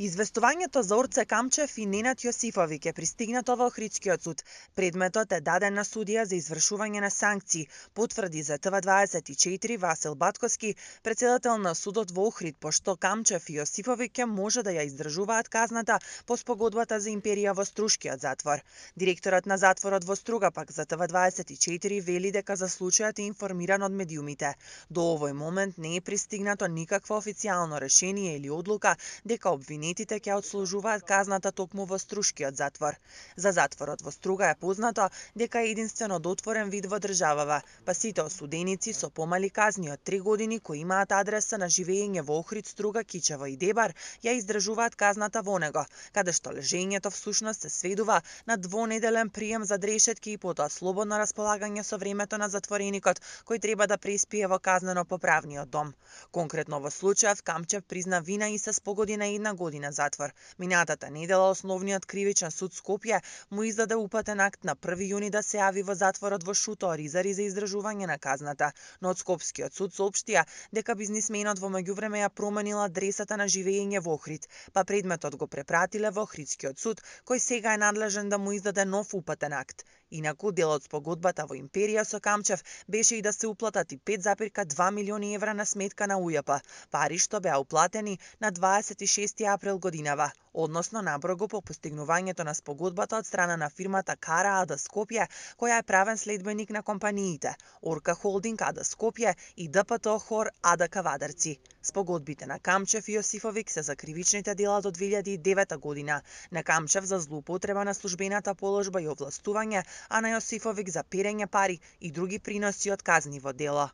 Известувањето за Орце Камчев и Ненад Јосифовиќ е пристигнато во Охридскиот суд. Предметот е даден на судија за извршување на санкции, потврди за ТВ24 Васил Батковски, председател на судот во Охрид, пошто Камчев и Јосифовиќ може да ја издржуваат казната по спогодбата за империја во Струшкиот затвор. Директорот на затворот во Струга пак за ТВ24 вели дека за случајот е информиран од медиумите. До овој момент не е пристигнато никакво официјално решение или одлука дека обвинетите ќе одслужуваат казната токму во Струшкиот затвор. За затворот во Струга е познато дека е единствено дотворен вид во државава, па сите осуденици со помали казни од 3 години кои имаат адреса на живење во Охрид, Струга, Кичево и Дебар, ја издржуваат казната во него, каде што лежењето всушност се сведува на двонеделен прием за дрешетки и потоа слободно располагање со времето на затвореникот кој треба да преспие во казнено-поправниот дом. Конкретно во случајот Камчев призна вина и се спогоди на 1 година затвор. Минатата недела Основниот кривичен суд Скопје му издаде упатен акт на 1 јуни да се јави во затворот во Шуто Оризари за издржување на казната, но од Скопскиот суд соопштија дека бизнисменот во меѓувреме ја променил адресата на живење во Охрид, па предметот го препратиле во Охридскиот суд, кој сега е надлежен да му издаде нов упатен акт. Инаку, дел од спогодбата во империја со Камчев беше и да се уплатат и 5,2 милиони евра на сметка на УЈП, пари што беа уплатени на 26 април годинава, односно наброго по постигнувањето на спогодбата од страна на фирмата Кара АД Скопје, која е правен следбеник на компаниите Орка Холдинг АД Скопје и ДПТ Хор АД Кавадарци. Спогодбите на Камчев и Јосифовиќ се за кривичните дела до 2009 година, на Камчев за злоупотреба на службената положба и овластување, а на Јосифовиќ за перење пари и други приноси од казниво дело.